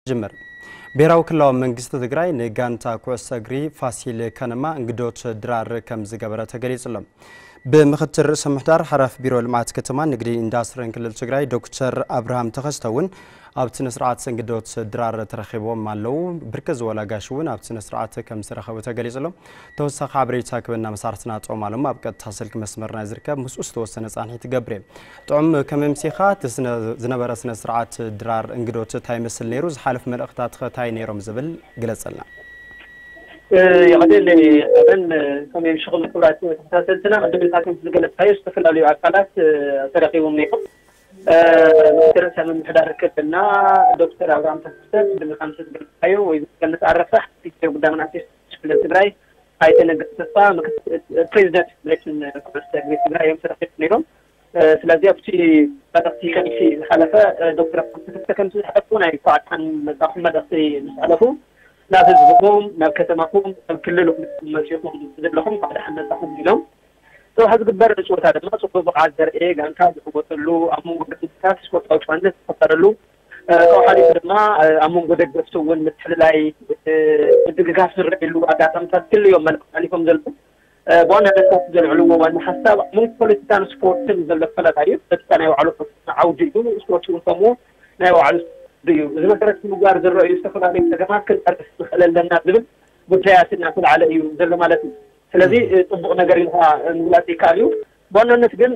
ጅምር። ብሄራዊ ክልላዊ መንግስቲ ትግራይ ንጋንታ ኩዕሶ እግሪ ፋሲል ከነማ እንግዶት ድራር ከም ዝገበረ ተገሊጹ ኣሎ። ብምክትል ርእሰ ምሕዳር ሓላፊ ቢሮ ልምዓት ከተማን ንግዲ ኢንዳስትሪን ክልል ትግራይ ዶክተር ኣብርሃም ተኸስተ እውን ኣብቲ ስነ ስርዓት እንግዶት ድራር ተረኺቦም ኣለዉ። ብርክት ዝበሉ ኣጋይሽ እውን ኣብቲ ስነ ስርዓት ከም ዝተረኸቡ ተገሊጹ ኣሎ። ተወሳኺ ሓበሬታ ክበና መሳርሕትና ጾም ኣለሙ ኣብ ቀጥታ ስልኪ መስመርና ዝርከብ ምስኡ ዝተወሰነ ጻንሒት ትገብር እየ። ጥዑም ከመምሲኻ እቲ ስነ- ዝነበረ ስነ ስርዓት ድራር እንግዶት እንታይ ይመስል ነይሩ? ዝሓለፉ መልእኽታትኸ እንታይ ነይሮም ዝብል ግለጸልና። የቐደል ኣበን ከመይ ምሽኹም ክብራት ተከታተልትና ቅድም ኢልካ ከም ዝገለጽካዮ ዝተፈላለዩ ኣካላት ተረኪቦም ነይሮም። ምክትል ርእሰ ምምሕዳር ክልልና ዶክተር ኣብርሃም ተከስተ ቅድሚ ከም ዝገለጽካዮ ወይ ዝገለጽ ኣረፈ ሓንቲ ጉዳይ መናእሰይ ክልል ትግራይ ኣይተ ነገ ተስፋ ፕሬዚደንት ፌዴሬሽን ኩዕሶ እግሪ ትግራይ እዮም ተረኪቦም ነይሮም። ስለዚ ኣብቲ መልእኽቲ ከምቲ ዝሓለፈ ዶክተር ኣብርሃም ተከስተ ከምቲ ዝሓለፉ ናይ ኳዕታን መጻኹም መልእኽቲ ምስ ሓለፉ ናብ ህዝብኹም ናብ ከተማኹም ናብ ክልልኩም መፂኹም ዘለኹም ኳዕታ ሓመፃኹም ኢሎም። ሰብሓ ዝግበር ፀወታ ድማ ፅቡቅ ብቕዓት ዘርእየ ጋንታ ዝዕወተሉ ኣብ መንጎ ደታት ስፖርታዊ ጨዋነት ዝፈጠረሉ ካብኡ ሓሊፉ ድማ ኣብ መንጎ ደገፍቲ እውን ምትሕልላይ ምድግጋፍ ዝረኣየሉ ኣጋጣሚታት ክልዮም መልእኽቲ ሓሊፎም ዘለዉ። ብዋናነት ካብቲ ዘልዕልዎ ዋና ሓሳብ ኣብ መንጎ ፖለቲካን ስፖርትን ዘሎ ፈለጣ እዩ። ፖለቲካ ናይ ባዕሉ ዓውዲ እዩ፣ ስፖርት እውን ከምኡ ናይ ባዕሉ እዩ። እዚ መሰረት ምግባር ዝረኣዩ ዝተፈላለዩ ፀገማት ክንቀርፍ ንኽእል ኣለና ዝብል ጉዳያት እናተላዕለ እዩ ዘሎ ማለት እዩ። ስለዚ ፅቡቕ ነገር ኢልካ ምግላፅ ይከኣል እዩ። ብዋናነት ግን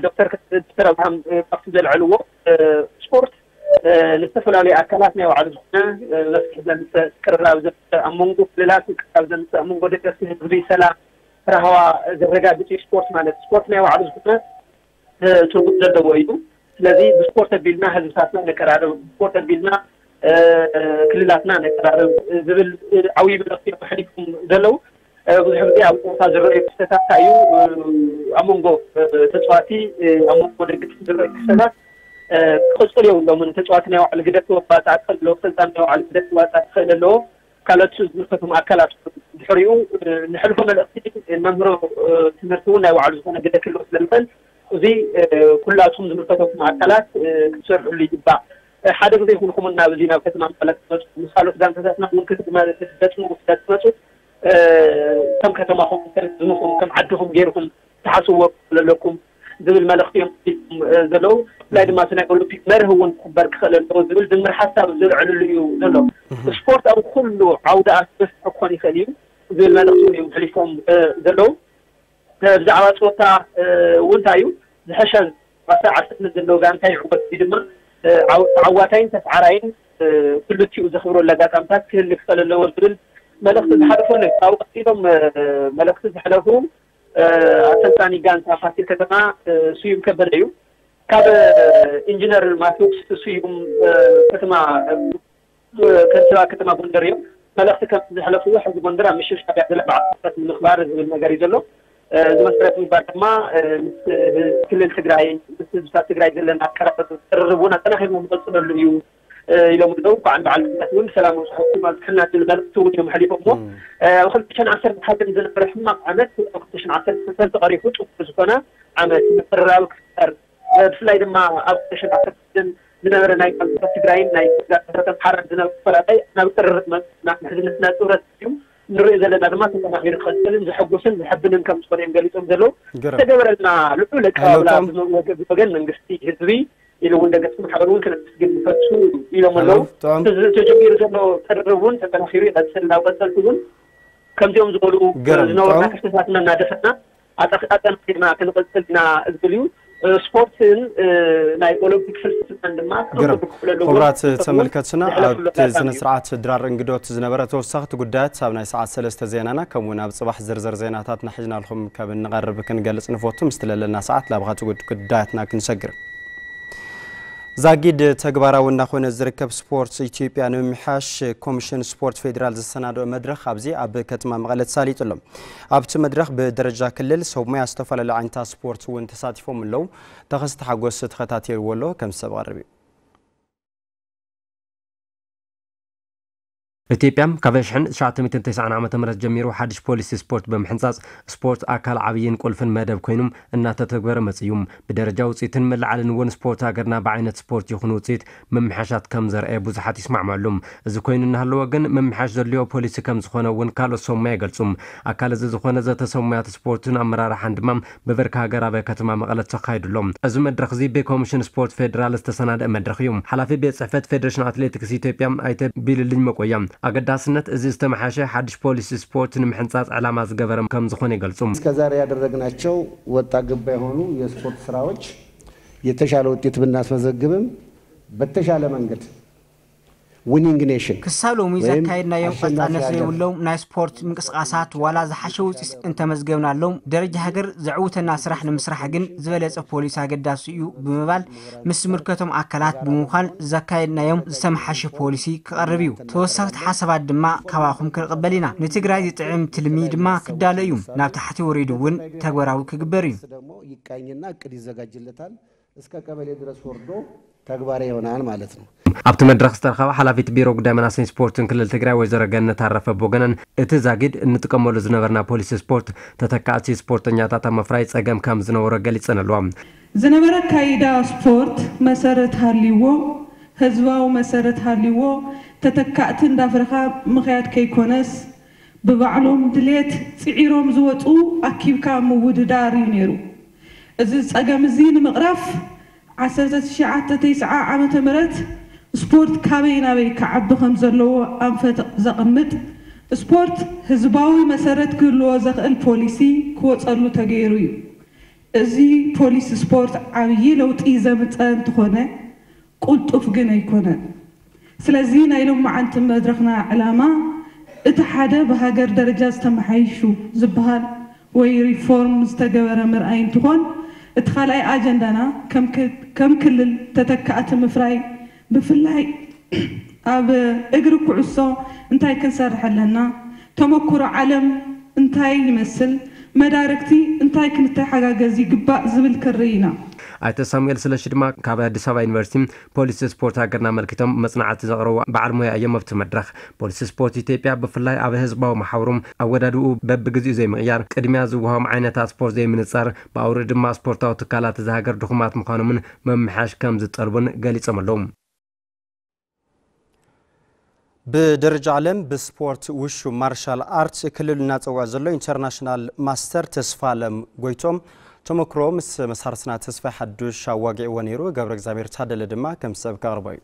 ዶክተር ዶክተር ኣብርሃም ካብቲ ዘልዕልዎ ስፖርት ንዝተፈላለዩ ኣካላት ናይ ባዕሉ ዝኾነ መፍትሒ ዘምፅእ ቅርራብ ዘምፅእ ኣብ መንጎ ክልላት ቅርራብ ዘምፅእ ኣብ መንጎ ደገፍቲ ህዝቢ ሰላም ራህዋ ዘረጋግፅ እዩ ስፖርት ማለት። ስፖርት ናይ ባዕሉ ዝኾነ ትርጉም ዘለዎ እዩ። ስለዚ ብስፖርት ኣቢልና ህዝብታትና ነቀራርብ፣ ብስፖርት ኣቢልና ክልላትና ነቀራርብ ዝብል ዓብዪ መልእኽቲ እዮም ኣሕሊፎም ዘለዉ። ብዙሕ ግዜ ኣብ ፀወታ ዝረኣዩ ክስተታት እንታይ እዩ ኣብ መንጎ ተፃዋቲ ኣብ መንጎ ደገፍቲ ዝረኣዩ ክስተታት ክቕፅሉ የብሎምን። ተፃዋቲ ናይ ባዕሉ ግደ ክወፃእ ክኽእል ኣለዎ፣ ኣሰልጣኒ ናይ ባዕሉ ግደ ክወፃእ ክኽእል ኣለዎ። ካልኦት ዝምልከቶም ኣካላት ድሕሪኡ ንሕልፎ መልእኽቲ መምህሮ ትምህርቲ እውን ናይ ባዕሉ ዝኾነ ግደ ክህልዎ ስለዝኽእል እዚ ኩላቱም ዝምልከተኩም ኣካላት ክትሰርሕሉ ይግባእ። ሓደ ግዜ ይኹንኹም ናብ እዚ ናብ ከተማ መቐለ ክትመፁ ምስ ካልኦት ጋንታታትና እውን ክትገጥሙ ክትመፁ ከም ከተማኹም ከም ህዝብኹም ከም ዓድኹም ገይርኩም ትሓስብዎ ዘለኩም ዝብል መልእኽቲ እዮም ሒዞም ዘለዉ። ብፍላይ ድማ እቲ ናይ ኦሎምፒክ መርህ እውን ክኽበር ክኽእል ኣለዎ ዝብል ድምር ሓሳብ ዘልዕልሉ እዩ ዘሎ። ስፖርት ኣብ ኩሉ ዓውዲ ኣትክልቲ ክኾን ይኽእል እዩ ዝብል መልእኽቲ እውን እዮም ሕሊፎም ዘለዉ። ብዛዕባ ፀወታ እውን እንታይ እዩ ዝሕሸ ኳዕታ ዓሰርተ ዘለዎ ጋንታ ይዕወት እዚ ድማ ተዓዋታይን ተስዓራይን ክልቲኡ ዘኽብረሉ ኣጋጣምታት ክህሊ ክኽእል ኣለዎ ዝብል መልእኽቲ ዝሓለፈሉ ካብኡ ቀፂሎም መልእኽቲ ዘሕለፉ ኣሰልጣኒ ጋንታ ፋሲል ከተማ ስዩም ከበደ እዩ። ካብ ኢንጂነር ማቴዎስ ስዩም ከተማ ከንቲባ ከተማ ጎንደር እዮም። መልእኽቲ ከም ዘሕለፍዎ ሕዚ ጎንደር ኣብ ምሽርሻር እያ ዘላ በዓል ንምኽባር ዝብል ነገር እዩ ዘሎ። እዚ መሰረት ምግባር ድማ ምስ ክልል ትግራይ ምስ ህዝብታት ትግራይ ዘለና ኣቀራረብ ቅርርብ እውን ኣጠናኺርና ንቐፅለሉ እዩ ኢሎም ኣለዉ። በዓል በዓል ኩናት እውን ሰላም ኣብፅሐኩም ኣብፅሐና ዝብል መልእኽቲ እውን እዮም ኣሕሊፎምዎ። ኣብ ክልተ ሽሕን ዓሰርተ ሓደን ዝነበረ ሕማቕ ዓመት ኣብ ክልተ ሽሕን ዓሰርተ ሰለስተን ተቐሪፉ ጥቡቕ ዝኾነ ዓመት ምቅርራብ ክፍጠር ብፍላይ ድማ ኣብ ክልተ ሽሕን ዓሰርተ ሓደን ዝነበረ ናይ ጋንታታት ትግራይን ናይ ጋንታታት ኣምሓራን ዝነበረ ፈላላይ ናብ ቅርርብ መፅና ምሕዝነትና ጥብረት እዩ ንሪኦ ዘለና ድማ ተጠናኺሩ ክቐፅልን ዘሐጉስን ዘሐብንን ከም ዝኾነ እዮም ገሊፆም ዘለዉ። ዝተገበረልና ልዑል ኣቀባብላ ብወገን መንግስቲ ህዝቢ ኢሉ እውን ደገፍቲ ማሕበር እውን ክነመስግን ንፈቱ ኢሎም ኣለዉ። ተጀሚሩ ዘሎ ቅርርብ እውን ተጠናኺሩ ይቐፅል። ናብ ቀፀልቲ እውን ከምዚኦም ዝበሉ ዝነበሩና ክፍተታትና እናደፈና ኣጠናኺርና ክንቐፅል ኢና ዝብል እዩ። ስፖርትን ናይ ኦሎምፒክ ፍልስፍናን ድማ ግርም። ክብረት ተመልከትና ኣብቲ ስነ ስርዓት ድራር እንግዶት ዝነበረ ተወሳኽቲ ጉዳያት ኣብ ናይ ሰዓት ሰለስተ ዜናና ከምኡ እውን ኣብ ፅባሕ ዝርዝር ዜናታትና ሒዝናልኩም ከም እንቐርብ ክንገልፅ ንፈቱ። ምስ ትለለና ሰዓት ላብኻቲ ጉዳያትና ክንሰግር ዛጊድ ተግባራዊ እናኾነ ዝርከብ ስፖርት ኢትዮጵያ ንምምሕያሽ ኮሚሽን ስፖርት ፌዴራል ዘሰናድኦ መድረኽ ኣብዚ ኣብ ከተማ መቐለ ተሳሊጡ ኣሎ። ኣብቲ መድረኽ ብደረጃ ክልል ሰብ ሞያ ዝተፈላለዩ ዓይነታት ስፖርት እውን ተሳቲፎም ኣለዉ። ተኸስተ ሓጎስ ተኸታቲልዎ ኣሎ ከም ሰብ ቀርብ እዩ። ኢትዮጵያ ካብ ኣሽሕን ትሽዓተ ሚእትን ተስዓን ዓመተ ምህረት ጀሚሩ ሓድሽ ፖሊሲ ስፖርት ብምሕንጻጽ፣ ስፖርት ኣካል ዓብይን ቁልፍን መደብ ኮይኑም እናተተግበረ መጽእ እዩ። ብደረጃ ውጽኢትን መለዓልን እውን ስፖርት ሃገርና ብዓይነት ስፖርት ይኹን ውጽኢት ምምሕያሻት ከም ዘርአየ ብዙሓት ይስማዕማሉ። እዚ ኮይኑ እናሃለወ ግን ምምሕያሽ ዘድልዮ ፖሊሲ ከም ዝኾነ እውን ካልኦት ሰሙያ ይገልጹ። ኣካል እዚ ዝኾነ ዘተ ሰሙያት ስፖርትን ኣመራርሓን ድማ ብብርኪ ሃገር ኣብ ከተማ መቐለ ተኻይዱ ኣሎ። እዚ መድረኽ እዚ ብኮሚሽን ስፖርት ፌዴራል ዝተሰናደአ መድረኽ እዩ። ሓላፊ ቤት ጽሕፈት ፌዴሬሽን ኣትሌቲክስ ኢትዮጵያ ኣይተ ቢልልኝ መቆያ ኣገዳስነት እዚ ዝተመሓሸ ሓድሽ ፖሊሲ ስፖርት ንምሕንጻጽ ዕላማ ዝገበረ ከም ዝኾነ ይገልጹ። እስከዛሬ ያደረግናቸው ወጣ ገባ የሆኑ የስፖርት ስራዎች የተሻለ ውጤት ብናስመዘግብም በተሻለ መንገድ ዊኒንግ ኔሽን ክሳብ ሎሚ ወይም ዘካየድናዮም አሸናፊ ቀጻልነት ሀገር ዘይብሎም ናይ ስፖርት ምንቅስቃሳት ዋላ ዝሓሸ ውፅኢት እንተመዝገብናሎም ደረጃ ሃገር ዘዕውተና ስራሕ ንምስራሕ ግን ዝበለፀ ፖሊሲ ኣገዳሲ እዩ ብምባል ምስ ዝምልከቶም ኣካላት ብምዃን ዘካየድናዮም ዝተመሓሸ ፖሊሲ ክቐርብ እዩ። ተወሰኽቲ ሓሳባት ድማ ካባኹም ክንቕበል ኢና። ንትግራይ ዝጥዕም ትልሚ ድማ ክዳሎ እዩ። ናብ ታሕቲ ወሪዱ እውን ተግባራዊ ክግበር እዩ። ደግሞ ይቃኝና እቅድ ይዘጋጅለታል። እስከ ቀበሌ ድረስ ወርዶ ተግባራዊ ይሆናል ማለት ነው። ኣብቲ መድረኽ ዝተረኸባ ሓላፊት ቢሮ ጉዳይ መናሰይን ስፖርትን ክልል ትግራይ ወይዘሮ ገነት ኣረፈ ብወገነን፣ እቲ ዛጊድ እንጥቀመሉ ዝነበርና ፖሊሲ ስፖርት ተተካእቲ ስፖርተኛታት ኣብ ምፍራይ ጸገም ከም ዝነበሮ ገሊጸን ኣለዋ። ዝነበረ ኣካይዳ ስፖርት መሰረት ሃልይዎ፣ ህዝባዊ መሰረት ሃልይዎ፣ ተተካእቲ እንዳፍረኻ ምኽያድ ከይኮነስ፣ ብባዕሎም ድሌት ጽዒሮም ዝወጹ ኣኪብካ ምውድዳር እዩ ነይሩ። እዚ ጸገም እዚ ንምቕራፍ ዓሰርተ ትሽዓተ ተስዓ ዓመተ ምህረት ስፖርት ካበይ ናበይ ክዓቢ ከም ዘለዎ ኣንፈት ዘቕምጥ ስፖርት ህዝባዊ መሰረት ክህልዎ ዘኽእል ፖሊሲ ክወፀሉ ተገይሩ እዩ። እዚ ፖሊሲ ስፖርት ዓብዪ ለውጢ ዘምፀ እንትኾነ ቁልጡፍ ግን ኣይኮነን። ስለዚ ናይ ሎማዓንቲ መድረኽና ዕላማ እቲ ሓደ ብሃገር ደረጃ ዝተመሓይሹ ዝበሃል ወይ ሪፎርም ዝተገበረ ምርኣይ እንትኾን እቲ ካልኣይ ኣጀንዳና ከም ክልል ተተካእቲ ምፍራይ ብፍላይ ኣብ እግሪ ኩዕሶ እንታይ ክንሰርሕ ኣለና፣ ተመኩሮ ዓለም እንታይ ይመስል፣ መዳርግቲ እንታይ ክንተሓጋገዝ ይግባእ ዝብል ክርኢ ኢና። ኣይተ ሳሙኤል ስለሺ ድማ ካብ ኣዲስ ኣበባ ዩኒቨርሲቲ ፖሊሲ ስፖርት ሃገርና ኣመልኪቶም መፅናዕቲ ዘቕረቡ በዓል ሞያ እዮም። ኣብቲ መድረኽ ፖሊሲ ስፖርት ኢትዮጵያ ብፍላይ ኣብ ህዝባዊ መሓውሮም ኣወዳድኡ በብግዚኡ ዘይምቕያር፣ ቅድሚያ ዝወሃቦም ዓይነታት ስፖርት ዘይምንፃር፣ ብኣውርኡ ድማ ስፖርታዊ ትካላት እዛ ሃገር ድኹማት ምዃኖምን ምምሕያሽ ከም ዝጠልቡን ገሊፆም ኣለዉ። ብደረጃ ዓለም ብስፖርት ውሹ ማርሻል ኣርት ክልሉ እናፀውዐ ዘሎ ኢንተርናሽናል ማስተር ተስፋ ኣለም ጎይቶም ተመክሮ ምስ መሳርትና ተስፋ ሓዱሽ ኣዋጊዕዎ ነይሩ። ገብረ እግዚኣብሔር ታደለ ድማ ከም ሰብ ከቕርቦ እዩ።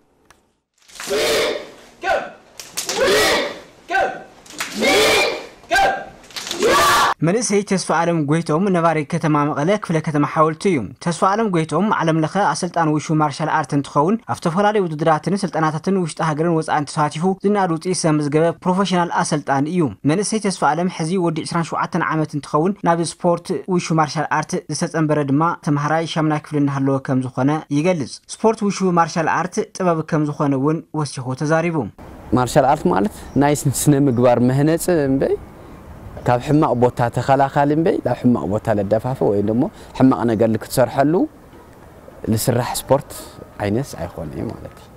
መንእሰይ ተስፋ ኣለም ጎይቶም ነባሪ ከተማ መቐለ ክፍለ ከተማ ሓወልቲ እዩ። ተስፋ ኣለም ጎይቶም ዓለም ለኸ ኣሰልጣን ውሹ ማርሻል ኣርት እንትኸውን ኣብ ዝተፈላለዩ ውድድራትን ስልጠናታትን ውሽጢ ሃገርን ወፃእን ተሳቲፉ ዝነኣድ ውፅኢት ዘመዝገበ ፕሮፌሽናል ኣሰልጣን እዩ። መንእሰይ ተስፋ ኣለም ሕዚ ወዲ ዕስራን ሸውዓተን ዓመት እንትኸውን ናብ ስፖርት ውሹ ማርሻል ኣርት ዝተፀንበረ ድማ ተምሃራይ ሻምናይ ክፍሊ እናሃለወ ከም ዝኾነ ይገልፅ። ስፖርት ውሹ ማርሻል ኣርት ጥበብ ከም ዝኾነ እውን ወሲኹ ተዛሪቡ። ማርሻል ኣርት ማለት ናይ ስነ ምግባር መህነፂ እምበይ ካብ ሕማቕ ቦታ ተኸላኻሊ እምበይ ናብ ሕማቕ ቦታ ለደፋፍእ ወይ ደሞ ሕማቕ ነገር ልክትሰርሐሉ ልስራሕ ስፖርት ዓይነት ኣይኮነ ማለት እዩ።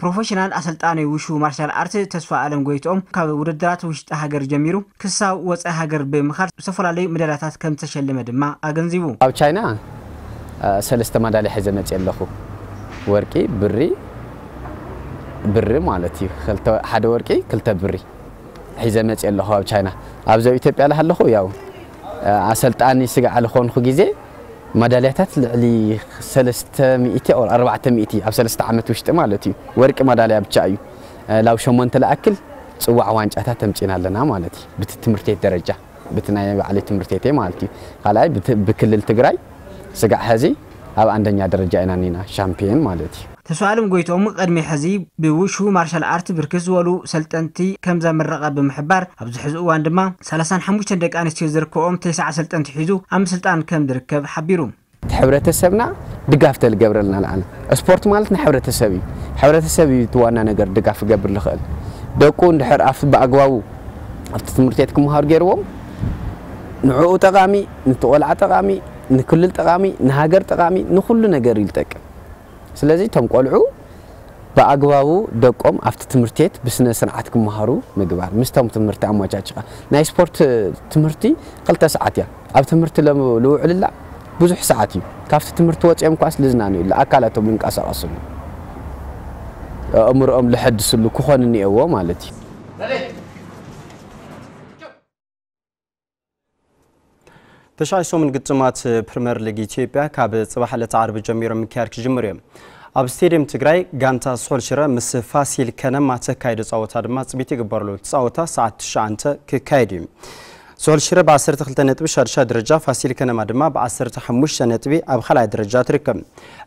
ፕሮፌሽናል ኣሰልጣኒ ውሹ ማርሻል ኣርት ተስፋ ኣለም ጎይትኦም ካብ ውድድራት ውሽጢ ሃገር ጀሚሩ ክሳብ ወፃኢ ሃገር ብምኻድ ዝተፈላለዩ መዳልያታት ከም ዝተሸለመ ድማ ኣገንዚቡ። ኣብ ቻይና ሰለስተ ማዳልያ ሒዘ መፅየ ኣለኹ። ወርቂ፣ ብሪ፣ ብሪ ማለት እዩ። ሓደ ወርቂ፣ ክልተ ብሪ ሒዘ መፅየ ኣለኹ ኣብ ቻይና። ኣብዚ ኣብ ኢትዮጵያ ለሃለኹ ያው ኣሰልጣኒ ስጋዕ ልኾንኩ ግዜ ማዳልያታት ልዕሊ ሰለስተ ሚእቲ or ኣርባዕተ ሚእቲ ኣብ ሰለስተ ዓመት ውሽጢ ማለት እዩ። ወርቂ ማዳልያ ብቻ እዩ። ላብ ሸሞንተ ለኣክል ፅዋዕ ዋንጫታት ተምፂና ኣለና ማለት እዩ። ብቲ ትምህርት ቤት ደረጃ ብቲ ናይ ባዕሊ ትምህርት ቤተይ ማለት እዩ። ካልኣይ ብክልል ትግራይ ስጋዕ ሐዚ ኣብ ኣንደኛ ደረጃ ኢና ኒና ሻምፒዮን ማለት እዩ። ተስፋኣለም ጎይትኦም ቅድሚ ሕዚ ብውሹ ማርሻል ኣርት ብርክት ዝበሉ ሰልጠንቲ ከም ዘምረቐ ብምሕባር ኣብዚ ሕዚ እዋን ድማ ሰላሳን ሓሙሽተን ደቂ ኣንስትዮ ዝርከብኦም ተስዓ ሰልጠንቲ ሒዙ ኣብ ምስልጣን ከም ዝርከብ ሓቢሩ። እቲ ሕብረተሰብና ድጋፍ ተልገብረልና ንዓና ስፖርት ማለት ንሕብረተሰብ እዩ። ሕብረተሰብ እዩ እቲ ዋና ነገር ድጋፍ ክገብር ዝኽእል። ደቁ እንድሕር ኣብቲ ብኣግባቡ ኣብቲ ትምህርት ቤት ክመሃሩ ገይርዎም ንዕኡ ጠቓሚ፣ ንቲ ቆልዓ ጠቓሚ፣ ንክልል ጠቓሚ፣ ንሃገር ጠቓሚ፣ ንኩሉ ነገር እዩ ዝጠቅም። ስለዚ እቶም ቆልዑ ብኣግባቡ ደቆም ኣብቲ ትምህርቲ ቤት ብስነ ስርዓት ክመሃሩ ምግባር፣ ምስቶም ትምህርቲ ኣመቻችኻ። ናይ ስፖርት ትምህርቲ ክልተ ሰዓት እያ። ኣብ ትምህርቲ ለ- ልውዕልላ ብዙሕ ሰዓት እዩ። ካብቲ ትምህርቲ ወፂኦም ኳስ ልዝናንዩሉ፣ ኣካላቶም ልንቀሳቐስሉ፣ ኣእምሮኦም ልሐድስሉ ክኾን እኒአዎ ማለት እዩ። ተሻይ ሰሙን ግጥማት ፕሪምየር ሊግ ኢትዮጵያ ካብ ጽባሕ ዕለት ዓርቢ ጀሚሮም ምክያድ ክጅምሩ እዮም። ኣብ ስቴዲየም ትግራይ ጋንታ ስሑል ሽረ ምስ ፋሲል ከነማ ተካይዶ ጸወታ ድማ ጽቢት ይግበረሉ። እቲ ጸወታ ሰዓት ትሽዓተ ክካየድ እዩ። ስሑል ሽረ ብ12 ነጥቢ ሻድሻይ ደረጃ፣ ፋሲል ከነማ ድማ ብ15 ነጥቢ ኣብ ካልኣይ ደረጃ ትርከብ።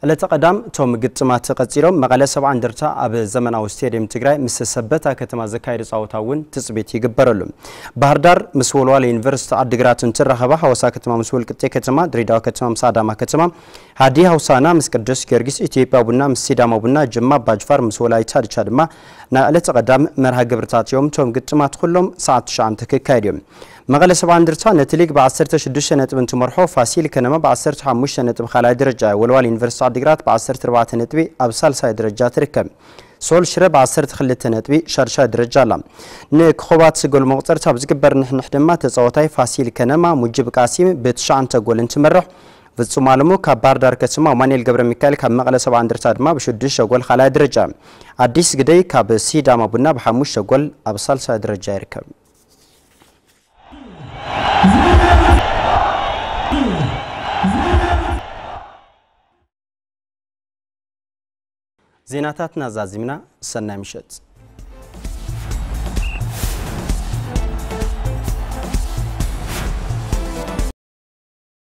ዕለተ ቀዳም እቶም ግጥማት ቀጺሎም፣ መቐለ ሰብዓ እንደርታ ኣብ ዘመናዊ ስቴዲየም ትግራይ ምስ ሰበታ ከተማ ዘካየዱ ጸወታ እውን ትጽቢት ይግበረሉ። ባህር ዳር ምስ ወልዋሎ ዩኒቨርሲቲ ዓዲግራት እንትራኸባ፣ ሐዋሳ ከተማ ምስ ወልቅጤ ከተማ፣ ድሬዳዋ ከተማ ምስ ኣዳማ ከተማ፣ ሃዲያ ሆሳዕና ምስ ቅዱስ ጊዮርጊስ፣ ኢትዮጵያ ቡና ምስ ሲዳማ ቡና፣ ጅማ ኣባጅፋር ምስ ወላይታ ድቻ ድማ ናይ ዕለተ ቀዳም መርሃ ግብርታት እዮም። እቶም ግጥማት ኩሎም ሰዓት ትሽዓተ ክካየዱ እዮም። መቐለ ሰብዓ እንደርታ ነቲ ሊግ ብ16 ነጥቢ እንትመርሖ፣ ፋሲል ከነማ ብ15 ነጥቢ ካልኣይ ደረጃ፣ ወልዋል ዩኒቨርሲቲ ዓዲግራት ብ14 ነጥቢ ኣብ ሳልሳይ ደረጃ ትርከብ። ስሑል ሽረ ብ12 ነጥቢ ሻድሻይ ደረጃ ኣላ። ንኮኾባት ጎል መቑፀርቲ ኣብ ዝግበር ንሕንሕ ድማ ተፃዋታይ ፋሲል ከነማ ሙጅብ ቃሲም ብትሽዓተ ጎል እንትመርሕ፣ ፍጹም ኣለሙ ካብ ባህር ዳር ከተማ፣ ማኑኤል ገብረ ሚካኤል ካብ መቐለ ሰብዓ እንደርታ ድማ ብሽዱሽተ ጎል ካልኣይ ደረጃ፣ ኣዲስ ግደይ ካብ ሲዳማ ቡና ብሓሙሽተ ጎል ኣብ ሳልሳይ ደረጃ ይርከብ። ዜናታትና ዛዚምና፣ ሰናይ ምሸት።